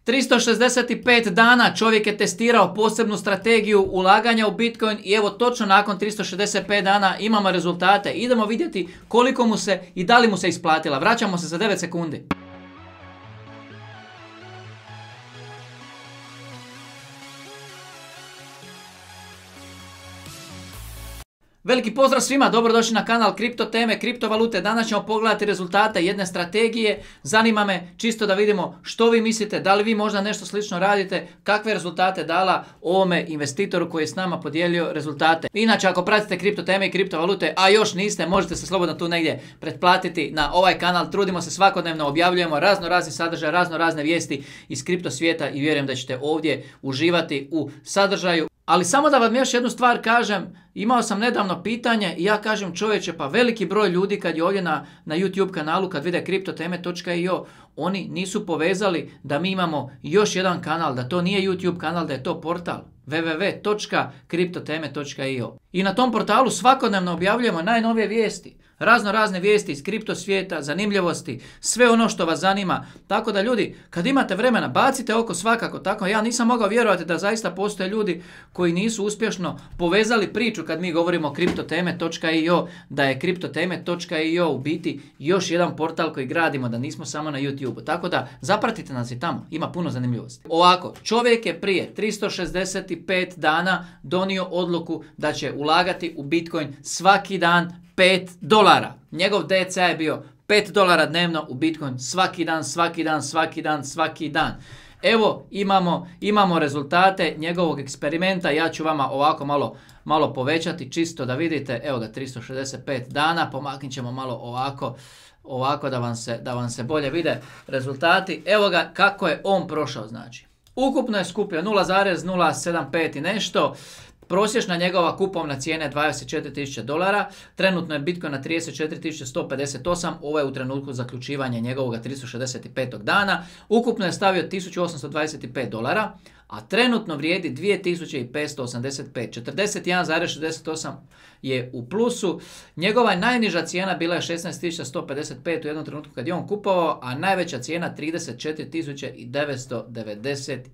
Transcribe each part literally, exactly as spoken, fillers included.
tristo šezdeset pet dana čovjek je testirao posebnu strategiju ulaganja u Bitcoin i evo točno nakon tristo šezdeset pet dana imamo rezultate. Idemo vidjeti koliko mu se i da li mu se isplatila. Vraćamo se za devet sekundi. Veliki pozdrav svima, dobrodošli na kanal Kripto teme, kriptovalute. Danas ćemo pogledati rezultate jedne strategije. Zanima me čisto da vidimo što vi mislite, da li vi možda nešto slično radite, kakve rezultate dala ovome investitoru koji je s nama podijelio rezultate. Inače, ako pratite kripto teme i kriptovalute, a još niste, možete se slobodno tu negdje pretplatiti na ovaj kanal. Trudimo se svakodnevno, objavljujemo razno razni sadržaj, razno razne vijesti iz kripto svijeta i vjerujem da ćete ovdje uživati u sadržaju. Ali samo da vam još jednu stvar kažem, imao sam nedavno pitanje i ja kažem čovječe, pa veliki broj ljudi kad je ovdje na, na YouTube kanalu, kad vide kripto teme točka i o, oni nisu povezali da mi imamo još jedan kanal, da to nije YouTube kanal, da je to portal w w w točka kripto teme točka i o. I na tom portalu svakodnevno objavljujemo najnovije vijesti, razno razne vijesti iz kripto svijeta, zanimljivosti, sve ono što vas zanima. Tako da ljudi, kad imate vremena, bacite oko svakako tako. Ja nisam mogao vjerovati da zaista postoje ljudi koji nisu uspješno povezali priču kad mi govorimo o kripto teme točka i o, da je kripto teme točka i o u biti još jedan portal koji gradimo, da nismo samo na YouTube. Tako da zapratite nas i tamo, ima puno zanimljivosti. Ovako, čovjek je prije tristo šezdeset pet dana donio odluku da će ulagati u Bitcoin svaki dan pet dolara. Njegov D C A je bio pet dolara dnevno u Bitcoin svaki dan, svaki dan, svaki dan, svaki dan. Evo imamo, imamo rezultate njegovog eksperimenta. Ja ću vama ovako malo, malo povećati čisto da vidite. Evo ga, tristo šezdeset pet dana. Pomaknit ćemo malo ovako, ovako da vam se, da vam se bolje vide rezultati. Evo ga kako je on prošao, znači. Ukupno je skupio nula zarez nula sedam pet i nešto. Prosječna njegova kupovna cijena je dvadeset četiri tisuće dolara, trenutno je Bitcoin na trideset četiri tisuće sto pedeset osam, ovo je u trenutku zaključivanja njegovog tristo šezdeset pet dana, ukupno je stavio tisuću osamsto dvadeset pet dolara, a trenutno vrijedi dvije tisuće petsto osamdeset pet, četrdeset jedan zarez šezdeset osam je u plusu. Njegova najniža cijena bila je šesnaest tisuća sto pedeset pet u jednom trenutku kad je on kupovao, a najveća cijena trideset četiri tisuće devetsto devedeset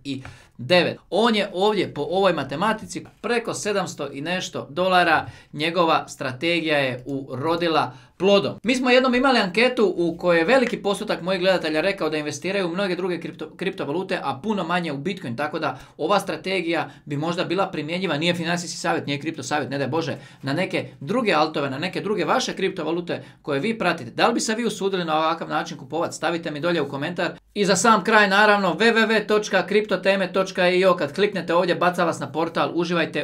devet. On je ovdje po ovoj matematici preko sedamsto i nešto dolara, njegova strategija je urodila plodom. Mi smo jednom imali anketu u kojoj je veliki postotak mojih gledatelja rekao da investiraju u mnoge druge kripto, kriptovalute, a puno manje u Bitcoin, tako da ova strategija bi možda bila primjenjiva, nije financijski savjet, nije kripto savjet, ne daj Bože, na neke druge altove, na neke druge vaše kriptovalute koje vi pratite. Da li bi se vi usudili na ovakav način kupovati? Stavite mi dolje u komentar. I za sam kraj naravno w w w točka kripto teme točka i o, kad kliknete ovdje baca vas na portal, uživajte